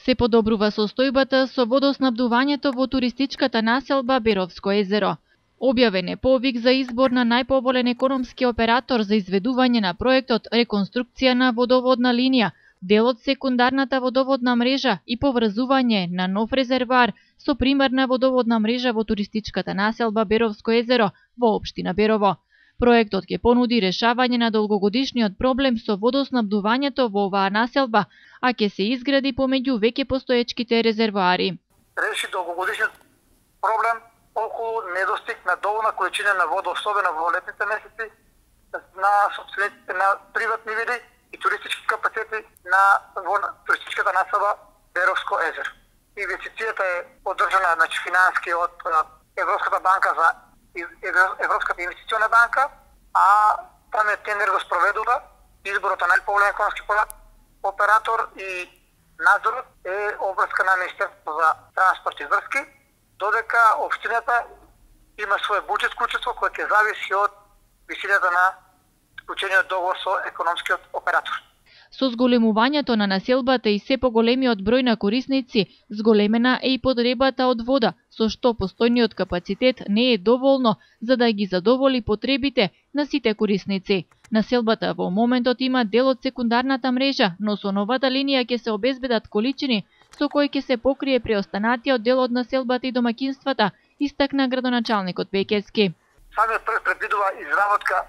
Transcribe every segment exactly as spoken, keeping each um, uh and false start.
Се подобрува состојбата со водоснабдувањето во туристичката населба Беровско езеро. Објавен е повик за избор на најповолен економски оператор за изведување на проектот реконструкција на водоводна линија, дел од секундарната водоводна мрежа и поврзување на нов резервоар со примарна водоводна мрежа во туристичката населба Беровско езеро во општина Берово. Проектот ќе понуди решавање на долгогодишниот проблем со водоснабдувањето во оваа населба, а ќе се изгради помеѓу веќе постоечките резервоари. Реши долгогодишниот проблем околу недостиг на доволна количина на вода, особено во летните месеци, на собствениците на приватни види и туристички капацитети на туристичката населба Беровско езеро. Инвестицијата е поддржана значи финански од Европската банка за Европската инвестициона банка, а там е тендер го спроведува, изборот на најповолен економски оператор и надзорот е обврска на Министерството за транспорт и врски, додека општината има свој буџет вклучество кој ќе зависи од висината на склучениот договор со економскиот оператор. Со зголемувањето на населбата и се поголемиот број на корисници, зголемена е и потребата од вода, со што постојниот капацитет не е доволно за да ги задоволи потребите на сите корисници. Населбата во моментот има дел од секундарната мрежа, но со новата линија ќе се обезбедат количини со кои ќе се покрие преостанатиот дел од населбата и домаќинствата, истакна градоначалникот Пекевски. Самиот проект предвидува изработка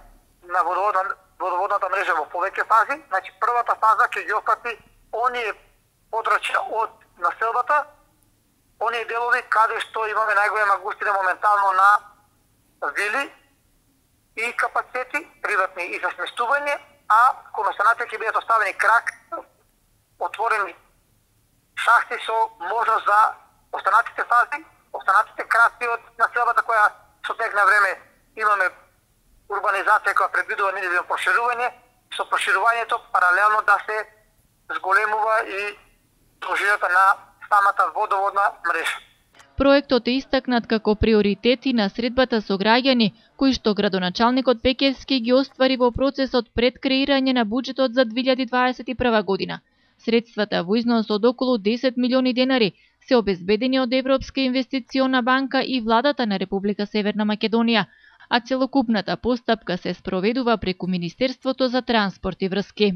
на водоводна водоводната мрежа во повеќе фази. Значи првата фаза ќе ги опфати оние подрачја од населбата, оние делови каде што имаме најголема густина моментално на вили и капацитети приватни и за сместување, а кон останатите ќе бидат оставени крак отворени шахти со можност за останатите фази, останатите краки од населбата која со тек на време имаме урбанизација која предвидува нивно проширување, со проширувањето паралелно да се зголемува и должината на самата водоводна мрежа. Проектот е истакнат како приоритет и на средбата со граѓани, кои што градоначалникот Пекевски ги оствари во процесот пред креирање на буџетот за две илјади дваесет и прва година. Средствата во износ од околу десет милиони денари се обезбедени од Европска инвестициона банка и владата на Република Северна Македонија, а целокупната постапка се спроведува преку Министерството за транспорт и врски.